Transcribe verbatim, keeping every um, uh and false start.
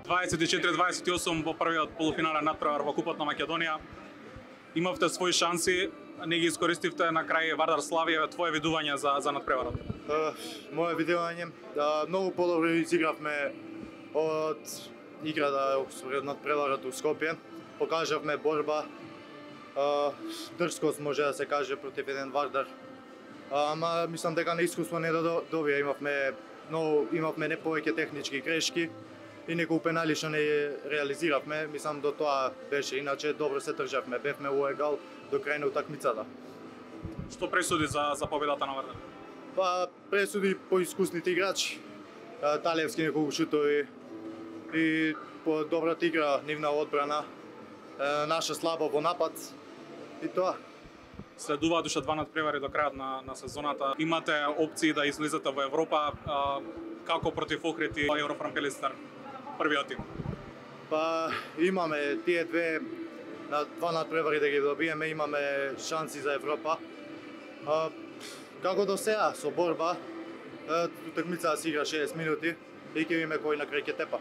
дваесет и четири дваесет и осум во првиот полуфинален натпревар во Купот на Македонија. Имавте своји шанси, не ги искористивте, на крај Вардар Славија, твое видување за за натпреварот? Uh, Моје видување, да, многу подобро изигравме од играта според натпреварот у Скопје. Покажавме борба, uh, дрскост може да се каже против еден Вардар. Uh, ама мислам дека на искуство не да добија, имавме но имавме не повеќе технички грешки и неколку пенали што не реализиравме, мислам до тоа беше, иначе добро се државме, бевме во егал до крај на утакмицата. Што пресуди за за победата на Вардар? Па пресуди поискусните играчи, Талевски неколку шутови и по добрата игра, нивна одбрана, наша слаба во напад и тоа. Следуваат уште два надпревари до крајот на, на сезоната. Имате опции да излезете во Европа, а, како против Охрид и Еврофранкелистер, првиот тим? Па имаме тие две на два надпревари да ги добиеме, имаме шанси за Европа. А, како до сега со борба, утакмицата се игра шеесет минути и ќе видиме кој на крај ќе тепа.